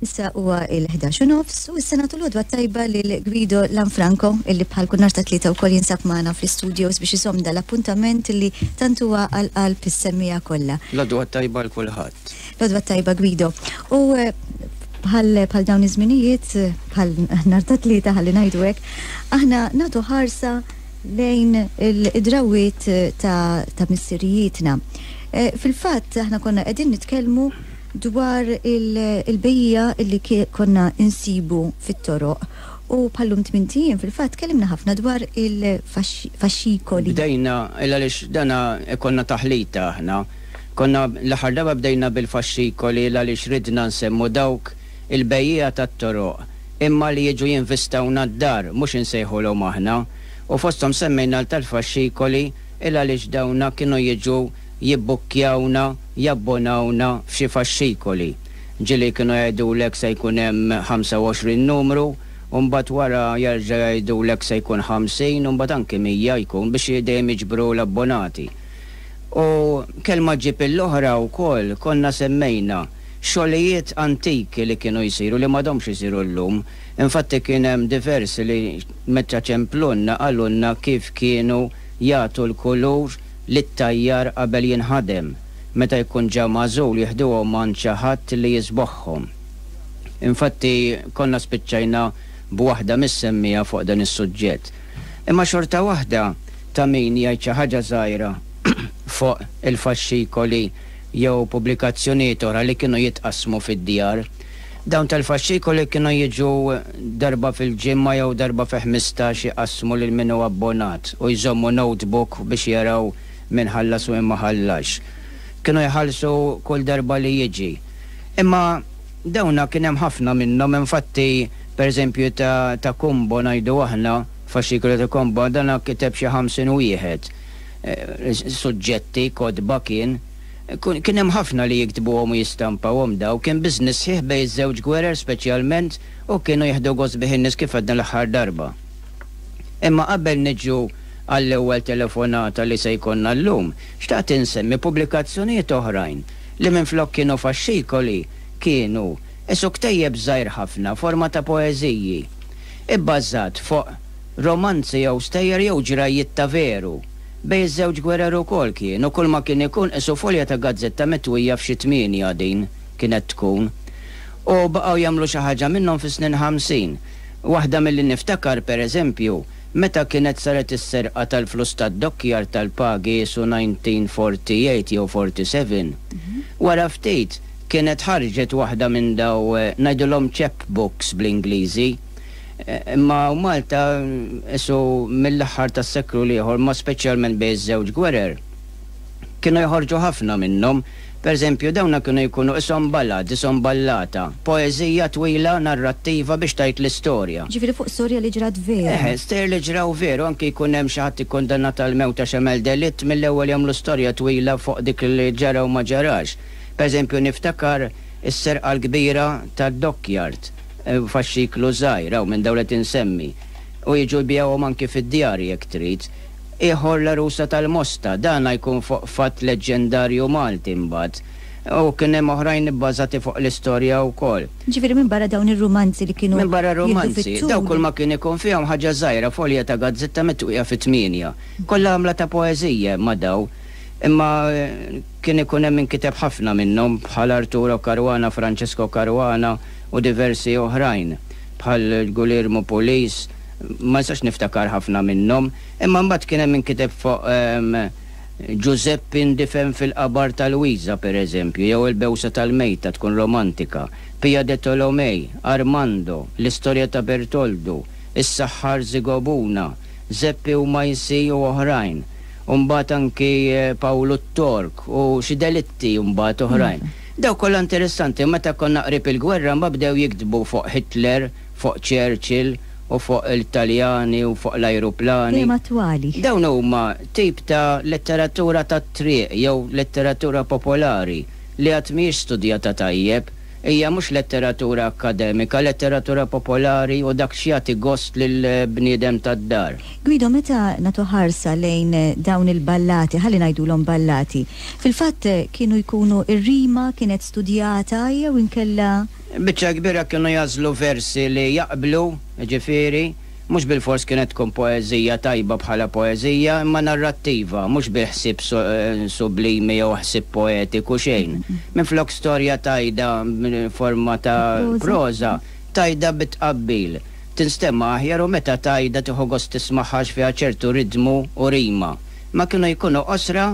Issa huwa il-11 u nofs u issa nagħtu l-għodwa tajba lil Guido Lanfranco illi bħal kull nhar ta' tlieta wkoll jinsab magħna fl-istudios biex iżomm dal-appuntament illi tant huwa għal qalb is-semmiegħa kollha. L-għodwa tajba l kulħadd. L-għodwa tajba Guido. U eh, bħal bħal dawn iż-żminijiet, bħal nhar ta' tlieta ħalli ngħidu hekk, aħna nagħtu ħarsa lejn il-drawwiet ta', ta missirijietna. Eh, fil-fatt aħna konna qegħdin nitkellmu dwar il-bejjiegħa li konna insibu fit-toroq u bħal-lum tmint ijiem fil-fatt tkellimna ħafna dwar il-faxxikoli. Bdejna, il għaliex dana konna taħlita aħna. Konna l-aħħar darba bdejna bil-faxxikoli il għaliex ridna nsemmu dawk il-bejjiegħa tat-toroq imma li jiġu jinvistawna d-dar, mhux insejħulhom aħna. U fosthom semmejna l tal-faxxikoli il għaliex dawna kienu jiġu jibbukkjawna, jabbonawna f'xi faxxikoli. Ġieli kienu jgħidulek se jkun hemm 25 numru, u mbagħad wara jerġa' jgħidulek se jkun 50 u mbagħad anki 100 jkun biex dejjem jiġbru l-abbonati. U kelma ġġib il-oħra wkoll konna semmejna xogħlijiet antiki li kienu jsiru li m'għadhomx isiru llum. Infatti kien hemm diversi li meta ċemplulna qalulna kif kienu jagħtu l-kulur lit-tajjar qabel jinħadem, meta jkun ġa magħżul jiħduhom għand xi ħadd li jiżbogħhom. Infatti konna spiċċajna b'waħda mis-semmiegħa fuq dan is-suġġett. Imma xorta waħda ta' min jgħid xi ħaġa żgħira fuq il-faxxikoli jew pubblikazzjonijiet oħra li kienu jitqassmu fid-djar. Dawn tal-faxxikoli kienu jiġu darba fil-ġimgħa jew darba fi 15 iqassmu lil min hu abbonat u jżommu notebook biex jaraw min ħallas u min ma ħallasx. Kienu jħallsu kull darba li jiġi. Imma dawna kien hemm ħafna minnhom, infatti pereżempju ta' ta' Kumbo ngħidu aħna, faxxikolu ta' Kumbo, dana kiteb xi 50 wieħed. Suġġetti, kotba kien. Kien hemm ħafna li jiktbuhom u jistampawhom daw, kien business sħiħ bejn iż-żewġ gwerer speċjalment u kienu jieħdu gost bih in-nies kif għedna l-aħħar darba. Imma qabel niġu għall-ewwel telefonata li se jkollna llum, xtaqt insemmi pubblikazzjonijiet oħrajn li minflok kienu faxxikoli kienu qisu ktejjeb żgħir ħafna forma ta' poeżiji, ibbażat fuq romanzi jew stejjer jew ġrajjiet ta' veru. Bejn iż-żewġ gwerer ukoll kien, u kulma kien ikun qisu folja ta' gazzetta mitwija f'xi tmienja din kienet tkun. U baqgħu jagħmlu xi ħaġa minnhom fis-snin 50. Waħda milli niftakar, per eżempju, meta kienet saret is-serqa tal-flus tad-dockyard tal-pagi qisu 1948 jew 47. Wara ftit kienet ħarġet waħda minn daw, ngħidulhom chap books bl-Ingliżi, Imma hawn Malta, qisu mill-aħħar tas-seklu l-ieħor, imma speċjalment bejn iż-żewġ gwerer, kienu joħorġu ħafna minnhom. Per eżempju, dawna kienu jkunu qishom ballad, qishom ballata, poeżija twila narrattiva biex tgħid l-istorja. Ġifieri fuq storja li ġrat veru. Eħe, stejjer li ġraw veru, anki jkun hemm xi ħadd ikkundannat għall-mewt għax għamel delitt, mill-ewwel jagħmlu storja twila fuq dik li ġara u ma ġarax. Per eżempju, niftakar is-serqa l-kbira tad-dockyard. Faxxiklu żgħir, hawn minn dawn li qed insemmi. U jiġu jbigħuhom anki fid-djar jekk trid. Ieħor l-għarusa tal-Mosta, dana jkun fuq fatt leġġendarju Malti mbagħad. U kien hemm oħrajn ibbażati fuq l-istorja wkoll. Ġifieri minbarra dawn ir-rumanzi li kienu Minbarra jieħdu rumanzi, fit-tul. Dawn kulma kien ikun fihom ħaġa żgħira, folja ta' gazzetta mitwija fi tmienja. Kollha għamla ta' poeżija imma daw. Imma Kien ikun hemm min kiteb ħafna minnhom, bħal Arturo Caruana, Francesco Caruana u diversi oħrajn, bħal Guillermo Pulis, ma nistax niftakar ħafna minnhom. Imma mbagħad kien hemm min kiteb fuq Ġużeppi ndifen fil-qabar ta' Lwiża, per eżempju, jew Il-Bewsa tal-Mejta tkun romantika, Pia de Tolomei, Armando, L-Istorja ta' Bertoldu, Is-Saħħar Zigobuna, Zeppi u Majsi u oħrajn. U mbagħad anki Pawlu t-Tork u xi delitti mbagħad oħrajn. Dawk kollha interessanti u meta konna qrib il-gwerra mbagħad bdew jiktbu fuq Hitler, fuq Churchill u fuq il-Taljani u fuq l-ajruplani. Dejjem attwali. Dawn huma tip ta' letteratura tat-triq jew letteratura popolari li għad mhijiex studjata tajjeb. Hija mhux letteratura akkademika, letteratura popolari u dak x'jagħti gost lill-bniedem tad-dar. Guido, meta nagħtu ħarsa lejn dawn il-ballati, ħalli ngħidulhom ballati, fil-fatt kienu jkunu r-rima kienet studjata jew inkella. Biċċa kbira kienu jagħżlu versi li jaqblu, jiġifieri, mhux bilfors kienet tkun poeżija tajba bħala poeżija, imma narrattiva, mhux bi ħsieb sublimi jew ħsieb poetiku, xejn. Minflok storja tgħidha forma ta' proża, tgħidha bi tqabbil. Tinstema' aħjar u meta tgħidha tieħu gost tismagħha għax fiha ċertu ritmu u rima. Imma kienu jkunu qosra,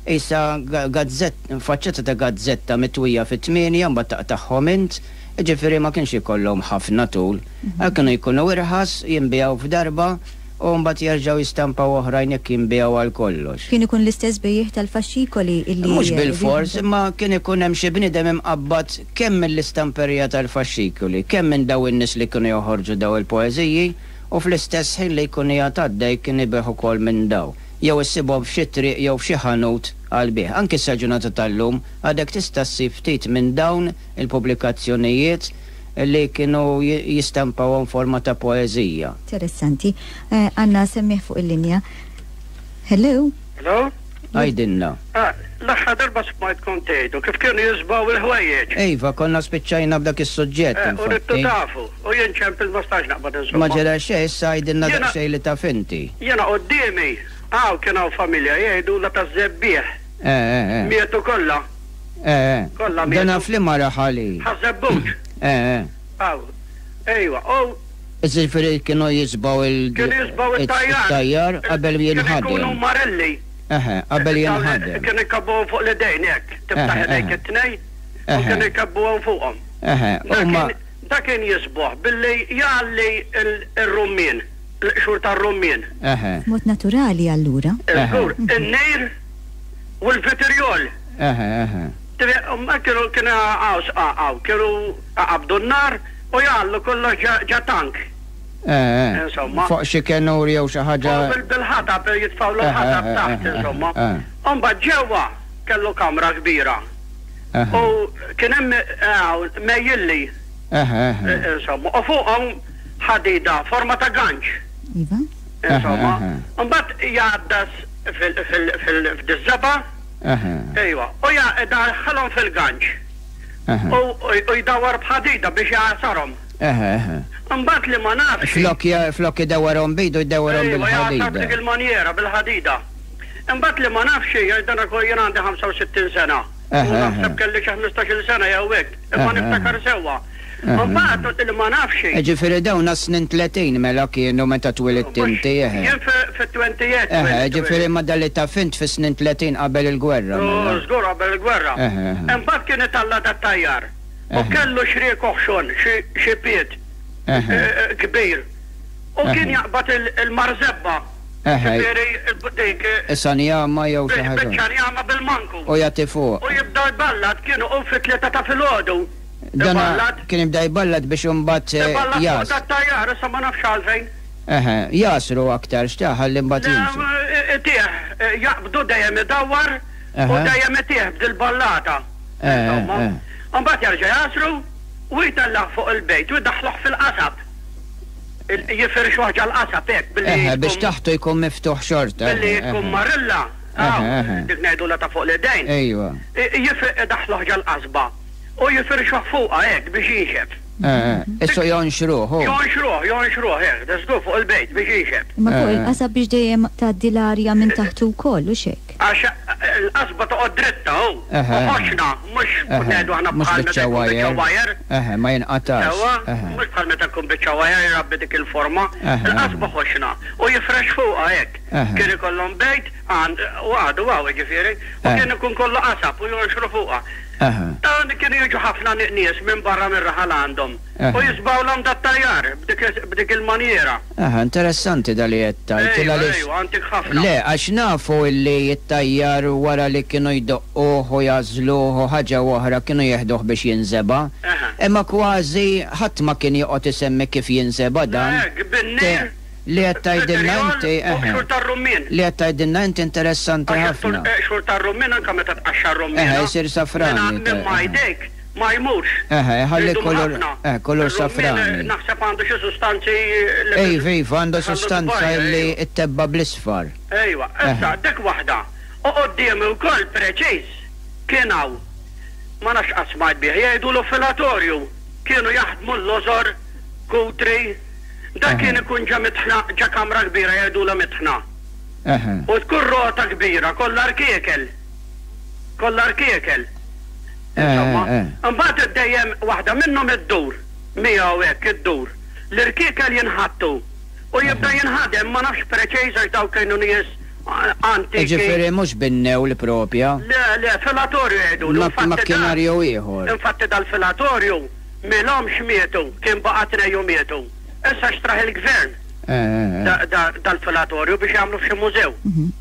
qisha gazzett, faċċata ta' gazzetta mitwija fi tmienja mbagħad taqtagħhom int, jiġifieri ma kienx ikollhom ħafna tul. Kienu jkunu irħas, jinbiegħu f'darba u mbagħad jerġgħu jistampaw oħrajn jekk jinbiegħu għal kollox. Kien ikun l-istess bejjiegħ tal-faxxikoli illi. Mhux bilfors, imma kien ikun hemm xi bniedem imqabbad kemm mill-istamperija tal-faxxikoli, kemm minn dawn in-nies li kienu joħorġu dawn il-poeżiji u fl-istess ħin li jkun qiegħed għaddej kien ibigħ ukoll minn dawn. Jew issibhom f'xi triq jew f'xi ħanut għall-bejgħ. Anki sal-ġurnata tal-lum għadek tista' ssib ftit minn dawn il-pubblikazzjonijiet li kienu jistampawhom forma ta' poeżija. Interessanti. Għandna semmiegħ fuq il-linja. Hello? Hello? Għidilna. Ah, l-aħħar darba smajtkom tgħidu kif kienu jiżbgħu il-ħwejjeġ. Iva, konna spiċċajna b'dak is-suġġett, Eh, u ridtu infatti. tafu, u jien ċempil ma stax naqbad insomma. Ma ġara xejn, issa għidilna Jiena- daqsxejn li taf inti. Jiena quddiemi, hawn kien hawn familja jgħidulha taż-żebbiegħ. Eh, eh, eh. Mietu kollha. Eh, eh. Kollha mietu. Dana f'liema raħal hi? Ħaż-Żebbuġ. Eh, eh. Hawn. Ejwa, u. Jiġifieri kienu jiżbgħu il. Kienu jiżbgħu it-tajjar. It-tajjar qabel jinħadem. Kienu jkunu marelli. Eħe, qabel jinħadem. Kienu jkabbuhom fuq l-idejn hekk. Tiftaħ idejk it-tnejn u kienu jkabbuhom fuqhom. Eħe, huma. Dak kien jiżbogħ billi jgħalli r-rummien, l-qxur tar-rummien. Eħe. B'mod naturali allura. Żgur, in-nir u l-vitriol. Eħe, eħe. Kienu kienu għaw, kienu qabdu n-nar u jgħallu kollox ġa tank. Eh, eh. Insomma. Fuq xi kenur jew xi ħaġa. Bil-ħatab jitfgħu l-ħatab taħt, insomma. U mbagħad ġewwa kellu kamra kbira. U kien hemm mejjilli. Insomma, u fuqhom ħadida forma ta' ganċ. Iva. Insomma, mbagħad jgħaddas fil-żebgħa. Ejwa, u jdaħħalhom fil-ganċ. U jdawwar b'ħadida biex jgħasarhom. Imbagħad li ma nafx. Flok flok idawwarhom b'idu jdawwarhom bil-ħadida. Ejwa, jgħasar b'dik il-manjera bil-ħadida. Imbagħad li ma nafx hija dan ukoll jien għandi 65 sena. U naħseb kelli xi 15-il sena jew hekk, imma niftakar sewwa. Imbagħad li ma nafx hi. Jiġifieri dawn għas-snin 30 mela kienu meta twilidt inti, eħe. Jien fit-28. Eħe, jiġifieri ma' dan li taf int fis-snin 30 qabel il-gwerra mela. Żgur qabel il-gwerra. Imbagħad kien italla' dat-tajjar. U kellu xriek oħxon, xi pied kbir. U kien jaqbad il-marżebba. Eħe. Ġifieri dik. Is-sanjama jew xi ħaġa. Biċċa njama bil-manku. U jagħti fuq. U jibda jballat, kien iqum fit-tlieta ta' filgħodu. Dan Iballat. kien jibda jballat biex imbagħad Iballat fuq jas. dat-tajjar, issa ma nafx għalfejn. Eħe, jasru aktar x'ta ħalli mbagħad jimxi. Le, itih, jaqbdu dejjem idawwar u dejjem itih b'dil-ballata. Insomma. Imbagħad jerġa' jasru u jtellgħu fuq il-bejt u jdaħħluh fil-qasab. Jifirxuh ġal-qasab hekk billi. Eħe, biex taħtu jkun miftuħ xorta. Billi tkun marilla, hawn, dik ngħidulha ta' fuq l-idejn. Ejwa. Idaħħluh ġal-qasba u jifirxuh fuqha hekk biex jinxef. Issa jonxruh, hu. Jonxruh, jonxruh hekk, da żgur fuq il-bejt biex jinxef. Imma fuq il-qasab biex dejjem tgħaddi l-arja minn taħtu wkoll, hux hekk? Għax il-qasba toqgħod dritta, hu. U ħoxna, mhux ngħidu aħna bħal meta jkun biċċa wire. Eħe, ma jinqatax. Sewwa, mhux bħal meta jkun biċċa wire jrabbi dik il-forma. Il-qasba ħoxna u jifrex fuqha hekk. Kien ikollhom bejt, u għadu hawn jiġifieri, u kien ikun kollu qasab u jonxru fuqha. Dawn kienu jiġu ħafna nies minn barra mir-raħal għandhom u jiżbgħulhom dat-tajjar b'dik il-manjiera. Aha, interessanti da li qed tgħid. Ejwa, ejwa, antik ħafna. Le, għax nafu illi t-tajjar wara li kienu jdoqquh u jagħżluh u ħaġa u oħra kienu jeħduh biex jinżeba'. Imma kważi ħadd ma kien joqgħod isemmi kif jinżeba' dan. Le, bin-nir. Li qed tgħidilna inti, eħe. Xhur tar-rummien. Li qed tgħidilna inti interessanti ħafna. Għax xhur tar-rummien anke meta tqaxxar rummien. Eħe, jsir safrani. Minn ma jdejk ma jmurx. Eħe, iħalli kulur, eħe, kulur safrani. Ir-rummien naħseb għandu xi sustanzi li. Iva, iva, għandu sustanza li ttebba' bl-isfar. Ejwa, issa dik waħda. U quddiemi wkoll preċiż kien hawn, ma nafx qatt smajt bih, jgħidulu filatorju. Kienu jaħdmu l-lożor, kutri. Dak kien ikun ġa mitħna, ġa kamra kbira jgħidulha mitħna. U tkun rota kbira kollha rkiekel. Kollha rkiekel. Insomma. Imbagħad dejjem waħda minnhom iddur miegħu hekk iddur. L-irkiekel jinħattu u jibda jinħadem ma nafx preċiż għax dawk kienu nies antiki. Jiġifieri mhux bin-newl propja? Le, le, filatorju jgħidulu. Infatti dan. Makkinarju ieħor. Infatti dal-filatorju m'ilhomx mietu, kien baqa' tnejn u mietu. Issa xtrah il-gvern dal-filatorju biex jagħmlu f'xi mużew.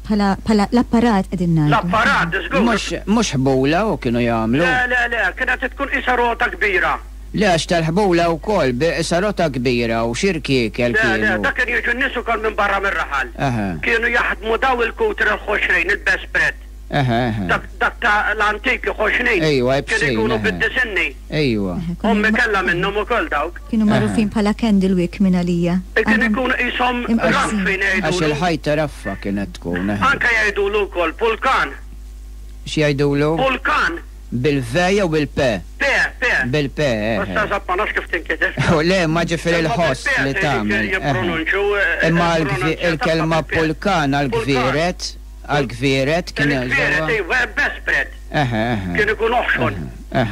Bħala, bħala l-apparat qegħdin ngħidu. L-apparat, żgur. Mhux, mhux ħbula u kienu jagħmlu? Le, le, le, kienet tkun qisha rota kbira. Le għax tal-ħbula wkoll, bi qisha rota kbira u xi rkiekel Le, le, kienu. dak kien jiġu n-nies ukoll minn barra mir-raħal. Eħe. Kienu jaħdmu daw il-kutri l-ħoxrin, il-bespread. Eħe, eħe. Dak, dak ta' l-antiki ħoxnin. Ejwa, Kienu ibsin, jkunu eħe. bid-disinni. Ejwa. Eħe, konna Ommi ma- kellha minnhom ukoll dawk. Kienu magħrufin bħala candlewick minn għalija. Kien Għadhom ikunu qishom imqassmin. raffi Għax ngħidulu. il-ħajta raffa kienet tkun, eħe. Anke jgħidulu wkoll pulkan. X'jgħidulu? Pulkan. Bil-V jew bil-P? P, P. Bil-P, eh. Issa eżatt ma nafx kif tinkiteb. Le, ma ġifieri l-ħoss li tagħmel. Imma il-kelma pulkan għall-gvieret, għall-gvieret kien Il-gvieret, iva, bespred. Eħe, eħe. Kien ikun oħxon.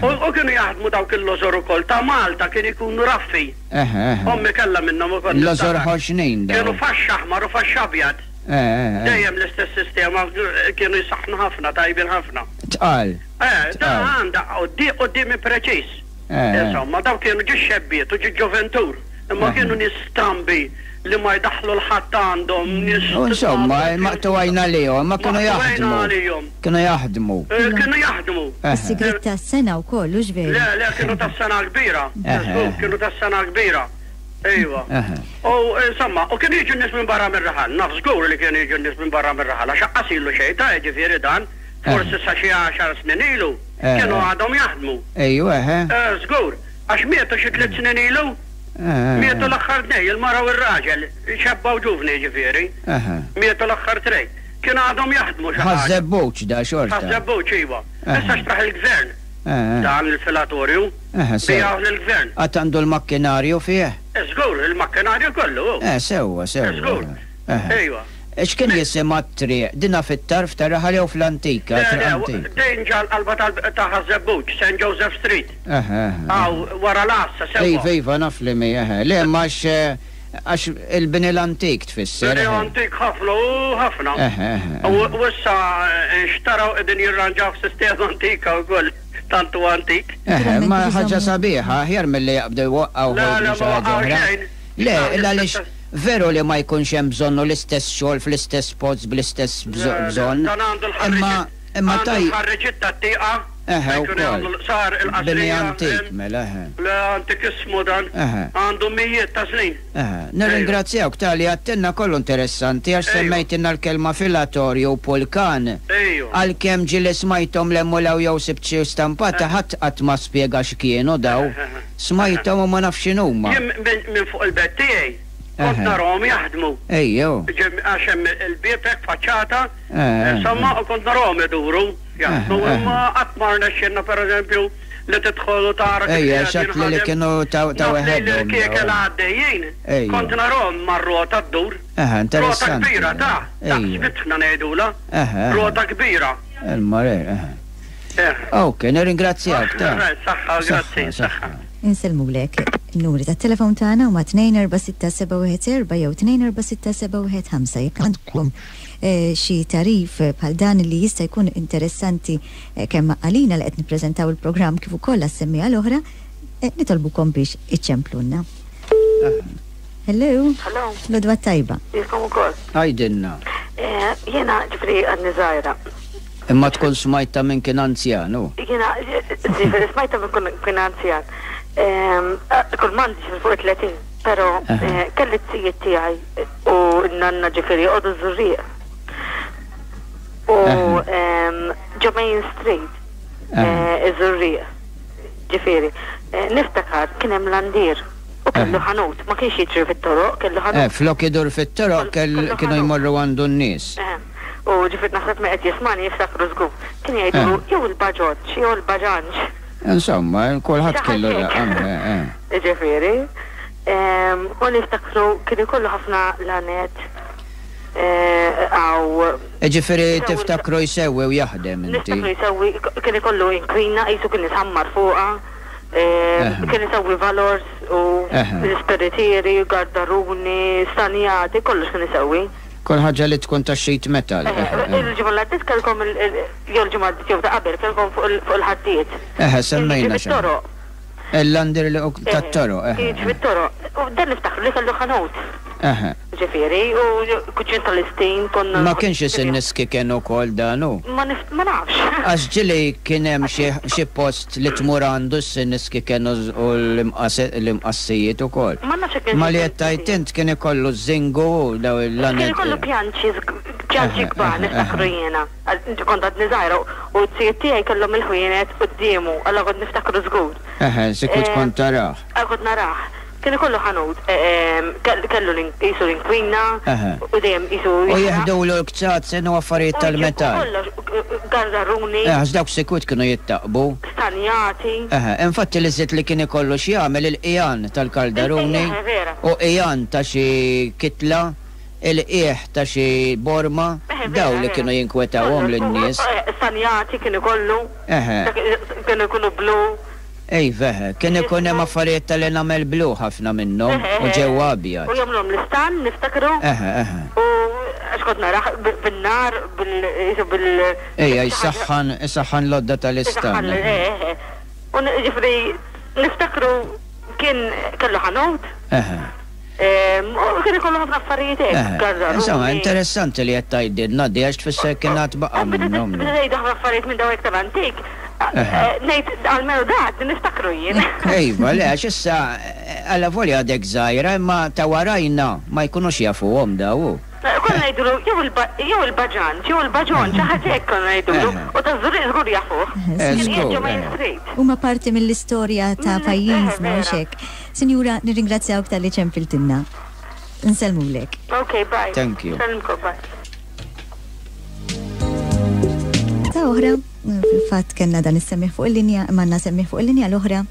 U kienu jaħdmu dawk il-lożor ukoll ta' Malta kien ikunu raffi. Eħe, eħe. Ommi kellha minnhom ukoll. Lożor ħoxnin dawn. Kienu faxxa aħmar u faxxa abjad. Dejjem l-istess sistema kienu jsaħħnu ħafna, tajbin ħafna. Tqal. Eh, da għandha quddiemi preċiż. Insomma, dawn kienu ġi xebbiet u ġi ġoventur, imma kienu nies strambi li ma jdaħħlu l-ħadd għandhom, nies. U insomma, maqtugħin għalihom, ma kienu jaħdmu. Maqtugħin għalihom. Kienu jaħdmu. Kienu jaħdmu. Is-sigriet tas-sengħa wkoll, hux veru? Le, le, kienu tas-sengħa kbira. Żgur, kienu tas-sengħa kbira. Ejwa. U insomma, u kienu jiġu n-nies minn barra mir-raħal. Naf żgur li kienu jiġu n-nies minn barra mir-raħal għax aqqas ilu xejn ta' jiġifieri dan, forsi sa xi għaxar snin ilu, kienu għadhom jaħdmu. Ejwa, eħe. Żgur, għax mietu xi tliet snin ilu. Mietu l-aħħar tnejn, il-mara u r-raġel, xebba u ġuvni jiġifieri. Mietu l-aħħar tnejn. Kienu għadhom jaħdmu xi ħaġa. Ħaż-Żebbuġ da xorta. Ħaż-Żebbuġ, iva. Issa xtraħ il-gvern dan il-filatorju. Eħe, sew. Biegħuh lill-gvern. Għad għandu l-makkinarju fih? Żgur, il-makkinarju kollu hu. Eh, sewwa, sewwa. Żgur. Eħe. Ejwa. X'kien jisimha t-triq? Dinha fit-tarf tar-raħal jew fl-antika, Le, triq le, antika? din ġa l-qalba ta' Ħaż-Żebbuġ, St. Joseph Street. Eħe, eħe. Hawn, wara l-għassa, sewwa. Iva, iva, naf li mhi, eħe. Le, imma għax, għax il-bini l-antik tfisser, Bini eħe. antik ħafna, u ħafna. Eħe, eħe. U issa nxtaraw qegħdin jirranġaw f'sistema antika wkoll. Tant hu antik. Eħe, imma ħaġa sabiħa, aħjar milli jaqbdu jwaqqgħuh u jibnu xi ħaġa oħra. Le, il għaliex veru li ma jkunx hemm bżonn u l-istess xogħol fl-istess post bl-istess bżonn. Imma imma taj. Għandu l-ħarriġiet tat-tieqa. Eħe, wkoll. Sar il-qasrija. Bini antik, mela, eħe. Le, antikissmu dan. Eħe. Għandu mijiet ta' snin. Eħe. Nirringrazzjawk ta' li għedtilna kollu interessanti għax semmejtilna l-kelma filatorju u pulkan. Ejwa. Għalkemm ġieli smajthom 'l hemm u 'l hawn jew sibt xi stampata ħadd qatt ma spjega x'kienu daw. Smajthom u ma nafx x'inhuma. Jien minn fuq il-bed tiegħi kont narahom jaħdmu. Ejjew. Għax hemm il-bieb hekk faċċata, insomma, u kont narahom iduru jaħdmu imma qatt ma rnexxielna pereżempju li tidħol u tara kif Ejja, qiegħed x'għedt li li jinħadem. kienu ta' ta' Naf li weħedhom l-irkiekel dawn. għaddejjin, Ejja. kont narahom mar-rota ddur. Eħe, Rota interessanti. kbira ta', daqs Ejja. mitħna ngħidulha. Eħe, eħe. Rota kbira. Il-marer, eħe. Eħe. Ok, nirringrazzjak ta'. Saħħa, grazzi, saħħa. Insellmulek. In-numri tat-telefon tagħna huma 246 714 jew 246 715 jekk għandkom eh, xi tarif bħal dan li jista' jkun interessanti eh, kemm għalina li qed nippreżentaw il-programm kif ukoll għas-semmiegħa l-oħra, eh, nitolbukom biex iċċemplunna. Hello. Hello. Lodwa tajba. Jilkom ukoll. Għidilna. Jiena ġifri għadni żgħira. Imma tkun smajta minn kien anzjan, u? Jiena ġifri smajta minn kien anzjan. Kull m'għandi ġifri fuq 30, però kelli t-sijiet tiegħi u n-nanna ġifri joqogħdu ż-Żurrieq. U ġo Main Street, iż-Żurrieq. Ġifieri, niftakar kien hemm landier u kellu ħanut, ma kienx jiġri fit-toroq, kellu ħanut. Eh, flok idur fit-toroq kienu jmorru għandu n-nies. U ġifieri naħseb min qed jismagħni jiftakru żgur. Kien jgħidulu jew il-baġoġġ jew il-baġanġ. Insomma, kulħadd kellu laqam. Ġifieri. U niftakru kien ikollu ħafna lanet għaw. Ġifieri tiftakru jsewwi u jaħdem inti. Niftakru jsewwi, kien ikollu inkwina qisu kien isammar fuqha. Kien isewwi valors u l-isperitieri, gardaruni, stanjati, kollox kien isewwi. Kull ħaġa li tkun ta' sheet metal. Il-ġimgħa li għaddiet kellkom jew il-ġimgħa għaddiet jew ta' qabel kellkom fuq il-ħaddied. Eħe, semmejna xi. Fit-toroq. Il-landir li tat-toroq, eħe. Kien jiġi fit-toroq. U dan niftakru li kellu ħanut. Eħe. Ġifieri, u kuċċin tal-istin konna. Ma kienx isinniski kien ukoll dan hu? Ma nafx. Għax ġieli kien hemm xi post li tmur għandu s-sinniski kienu u l-imqassijiet ukoll. Ma nafx jekk kienx. Ma li qed tgħid int kien ikollu ż-żingu u dawn il-laned. Kien ikollu pjanċi, pjanċi kbar niftakru jiena. Kont għadni żgħira u t-zijiet tiegħi kellhom il-ħwienet quddiemu, allura kont niftakru żgur. Eħe, sikwit kont tarah. Kont narah. Kien ikollu ħanut, kellu qisu l-inkwina u dejjem qisu. U jeħdulu l-kċazen u affarijiet tal-metall. Kollox, gargaruni. Eh, għax dawk sikwit kienu jittaqbu. Stanjati. Eħe, infatti l-iżjed li kien ikollu x'jagħmel il-qigħan tal-kaldaruni. Eħe, vera. U qigħan ta' xi kitla, il-qiegħ ta' xi borma, dawn li kienu jinkwetawhom lin-nies. Stanjati kien ikollu. Eħe. Kienu jkunu blu. Iva, eħe. Kien ikun hemm affarijiet tal-enamel blu ħafna minnhom u ġewwa abjad. U jagħmluhom l-istann, niftakru. Eħe, eħe. U għax kont narah bin-nar, bil, qisu bil. Ejja, jsaħħan, isaħħan l-għodda tal-istann. Isaħħan, eħe, eħe. U jiġifieri niftakru kien kellu ħanut. Eħe. U kien ikollu ħafna affarijiet hekk, garraruni. Insomma, interessanti li qed tgħidilna di għax tfisser kien għad baqa' minnhom. Meta tgħidu ħafna affarijiet minn dawn iktar antik, ngħid almenu dak niftakru jien. Iva, le għax issa allavolja għadek żgħira imma ta' warajna ma jkunux jafuhom daw hu. Konna ngħidulu jew il-baġanġ jew il-baġon, xi ħaġa hekk konna ngħidulu, u taż-Żurrieq żgur jafuh. Kien qiegħed ġo Main Street. Huma parti mill-istorja ta' pajjiżna, hux hekk? Sinjura, nirringrazzjawk talli ċempiltilna. Nsellmulek. Ok, bye. Thank you. Nsellmkom, bye. Ta' oħra, fil-fatt kellna dan is-semmiegħ fuq il-linja, imma għandna semmiegħ fuq il-linja l-oħra.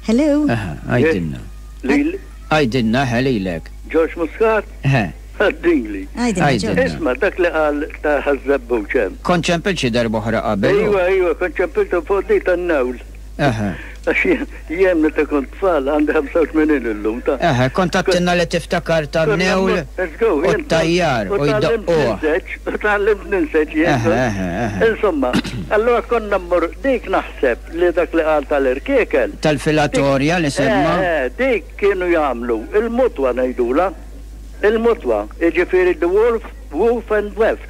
Hello? Eħe, għidilna. Lili? Għidilna, eħe, lilek. George Muscat? Eħe. Għaddili. Għidilna, George. Isma' dak li qal ta' Ħaż-Żebbuġ hemm. Kont ċempilt xi darba oħra qabel. Iva, iva, kont ċempiltu fuq di tan-newl. Eħe. Għax jien meta kont tfal għandi 85 illum ta'. Eħe, kont għedtilna li tiftakar tan-newl u t-tajjar u jdoqquh. U tgħallimt ninseġ jien. Eħe, eħe, eħe. Insomma, allura konna mmorru, dik naħseb li dak li qal tal-irkiekel. Tal-filatorja li semma. Eħe, dik kienu jagħmlu il-mutwa ngħidulha. Il-mutwa, jiġifieri the wolf, woof and weft.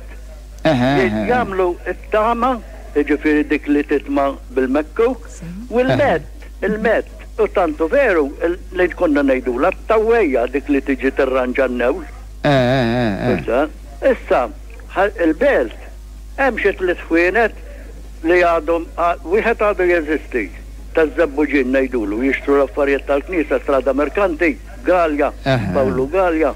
Eħe, eħe. Jagħmlu t-tama jiġifieri dik li titma' bil-mekkuk, u l-medd, il-medd, u tant hu veru li konna ngħidulha t-tawwejja dik li tiġi tirranġa n-newl. Issa, issa, il-belt hemm xi tliet ħwienet li għadhom, wieħed għadu jeżisti, taż-Żebbuġin ngħidulu, jixtru l-affarijiet tal-knisja, Strada Merkanti, Galea, Pawlu Galea.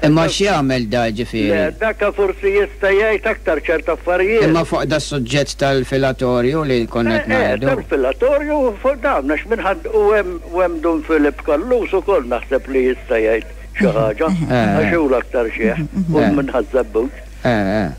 Imma x'jagħmel da ġifieri? Le, daka forsi jista' jgħid aktar ċert affarijiet. Imma fuq das-suġġett tal-filatorju li konna qed ngħidu. Eh, tal-filatorju u fuq dawn għax minn ħadd u hemm u hemm Dun Filip Callus ukoll naħseb li jista' jgħid xi ħaġa għax hu l-aktar xiħ u minn Ħaż-Żebbuġ.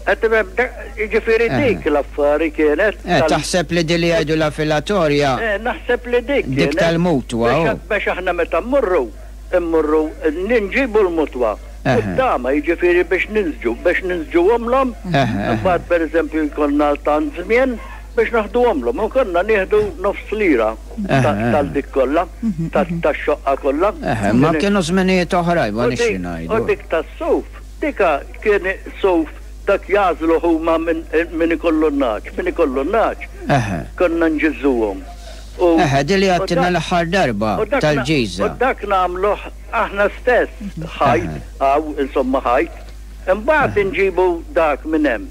Qed tifhem? Jiġifieri dik l-affari kienet. Eh, taħseb li din li jgħidulha filatorja. Eh, naħseb li dik kienet. Dik tal-mutwa. Biex aħna meta mmorru Immorru nġibu l-mutwa u t-tama, jiġifieri biex ninsġu, biex ninsġuhomlhom, imbagħad pereżempju jkollna tant żmien biex naħduhomlhom u konna nieħdu nofs lira tal dik kollha, tax-xoqqa kollha. Eħe, ma kienu żminijiet oħrajn, ma nix xi ngħidu. U dik tas-suf, dika kien suf dak jagħżluh huma min ikollu n-nagħaġ, min ikollu n-nagħaġ konna nġiżżuhom. Eħe, din li għedtilna l-aħħar darba, tal-ġiża. U dak nagħmluh aħna stess, ħajt, hawn, insomma ħajt. Imbagħad inġibu dak minn hemm,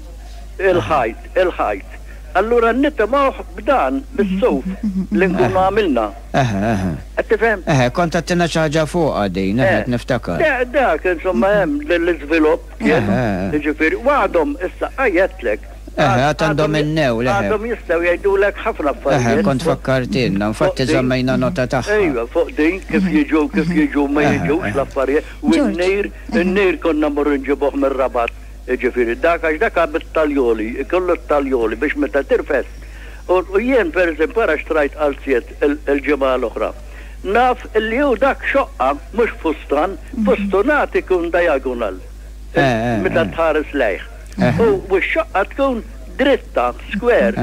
il-ħajt, il-ħajt. Allura nitimgħuh b'dan, bis-suf li nkunu għamilna. Eħe, eħe. Qed tifhem? Eħe, kont għedtilna xi ħaġa fuqha din, eħe, qed niftakar. Dak, insomma, hemm l-iżvilupp kien, jiġifieri, u għadhom issa, għedtlek. Eħe, għad għandhom in-newl, eħe. Għadhom jistgħu jgħidulek ħafna affarijiet. Eħe, kont fakkartilna, infatti żammejna nota tagħha. Ejwa, fuq din kif jiġu kif jiġu ma jiġux l-affarijiet. U n-nir, in-nir konna mmorru nġibuh mir-Rabat, jiġifieri dak għax dak bit-taljoli, ikollu t-taljoli biex meta tirfes. U jien pereżempju ara xtrajt qalziet il-ġimgħa l-oħra. Naf li hu dak xoqqa mhux fustan, fustunat ikun diagonal meta tħares lejh. U x-xoqqa tkun dritta, square.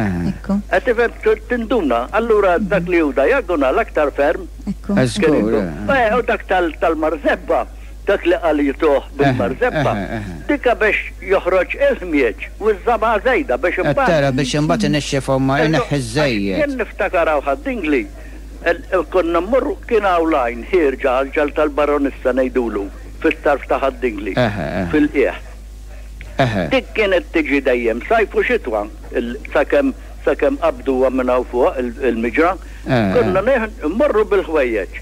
Qed tifhem tinduna. Allura dak li hu diagonal aktar ferm. U dak tal-marzebba, dak li qal jituh bil-marzebba, dika biex joħroġ il-ħmieġ u ż-żabgħa żejda biex imbagħad. Tara biex imbagħad inixxifhom ma ineħħi ż-żejjed. Jien niftakar hawn Ħad-Dingli, Konna mmorru, kien hawn l-għajn ħierġa għall-ġal tal-Baronissa ngħidulu, fit-tarf ta' Ħad-Dingli, fil-qiegħ. Dik kienet tiġi dejjem sajf u xitwa, sakemm sakemm qabduha minn hawn fuq il-miġra. Konna mmorru bil-ħwejjeġ.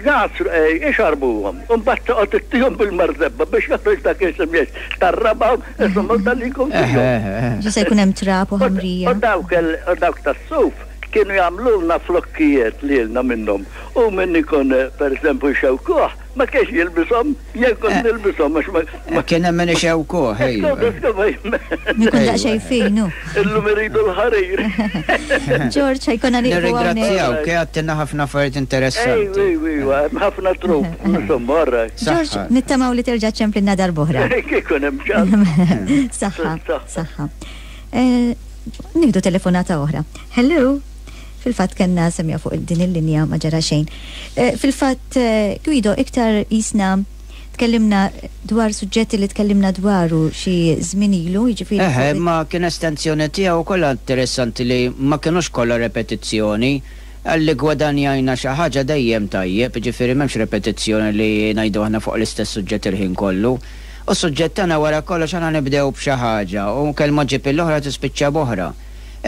Jagħsru, ixarbuhom, u mbagħad toqgħod ittihom bil-marzebba biex joħroġ dak il-xemjex tar-raba' insomma dan li jkun fihom. Ġa se jkun hemm trab u ħamrija. U dawk tas-suf Kienu jagħmlulna flokkijiet lilna minnhom u min ikun pereżempju jxewkuh ma kienx jilbishom, jien kont nilbishom għax ma. Kien hemm min ixewkuh, ejwa. Min ikun daqsxejn fin hu. Illum iridu l-ħarir. Ġorġ, ħa jkollna nieqfu hawnhekk. Nirringrazzjawk, għedtilna ħafna affarijiet interessanti. Ejwa, ejwa, hemm ħafna trup, insomma, all right. Ġorġ, nittamaw li terġa' ċċemplilna darb'oħra. Kieku hemm ċans. Saħħa, saħħa. Nieħdu telefonata oħra. Hello? Fil-fatt kellna semja fuq din il-linja ma ġara xejn. Eh, fil-fatt eh, Guido iktar jisna tkellimna dwar suġġetti li tkellimna dwaru xi żmien ilu, jiġifieri. Eħe, ma kien estensjoni tiegħu kollha interessanti li ma kinux kollha repetizzjoni. Għalli gwadanjajna xi ħaġa dejjem tajjeb, jiġifieri m'hemmx repetizzjoni li ngħidu aħna fuq l-istess suġġett il-ħin kollu. U s-suġġett tagħna wara kollox aħna nibdew b'xi ħaġa u kelma ġġib il-oħra tispiċċa b'oħra.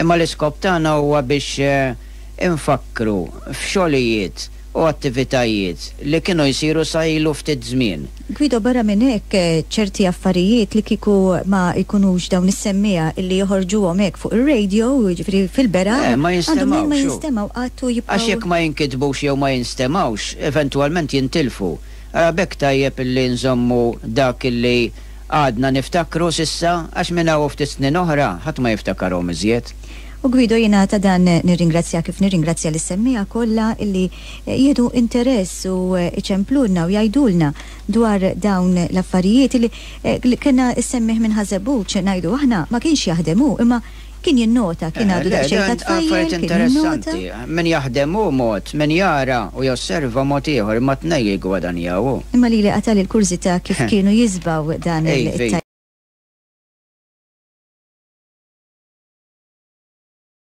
Imma l-iskop tagħna huwa biex infakkru f'xogħlijiet u attivitajiet li kienu jsiru sa ilu ftit żmien. Guido, barra minn hekk, ċerti affarijiet li kieku ma jkunux dawn is-semmiegħa illi joħorġuhom hekk fuq ir-radio, jiġifieri fil-beraħ, għandhom mnejn ma jinstemgħu qatt u jibqgħu. Għax jekk ma jinkitbux jew ma jinstemgħux, eventwalment jintilfu. Ara b'hekk tajjeb illi nżommu dak illi għadna niftakru s'issa għax minn hawn u ftit snin oħra ħadd ma jiftakarhom iżjed. U Guido jiena ta' dan nirringrazzjak kif nirringrazzja lis-semmiegħa kollha illi jieħdu interess u jċemplulna u jgħidulna dwar dawn l-affarijiet illi kellna s-semmiegħ minn Ħaż-Żebbuġ ngħidu aħna ma kienx jaħdem hu imma kien jinnota, kien għadu daqsxejn ta' tfajjel, kien jinnota. Min jaħdem hu mod, min jara u josserva mod ieħor, imma t-tnejn jiggwadanjaw hu. Imma lili qatagħli l-kurżità kif kienu jiżbgħu dan it-tajjeb.